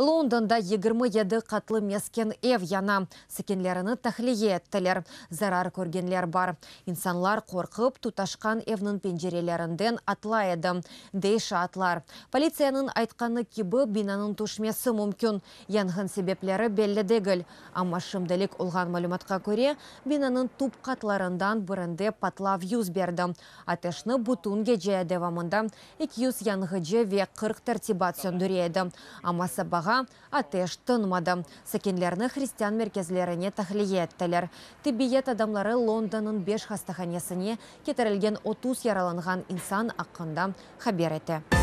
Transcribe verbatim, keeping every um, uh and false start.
Londonda yigirmi yedi qatlı mesken ev yana. Sakinlerini tahliye ettiler. Zarar körgenler bar. İnsanlar qorqıp, tutaşqan evniñ pencerelerinden atlay edi, dey şaatlar. Politsiyanıñ aytqanı kibi, binanıñ tüşmesi mümkün. Yanğın sebepleri belli degil. Amma şimdilik olğan malümatqa köre, binanıñ tüp qatlarından birinde patlav yüz berdi. Ateşni bütün gece devamında eki yüz yanğıcı ve qırq tertibat söndüre edi. Amma sabağa ateş tınmadı. Sakinlerni hristian merkezlerine tahliye ettiler. Tibbiyet adamları Londonnıñ beş hastahanesine ketirilgen otuz yaralanğan insan aqqında haber ete.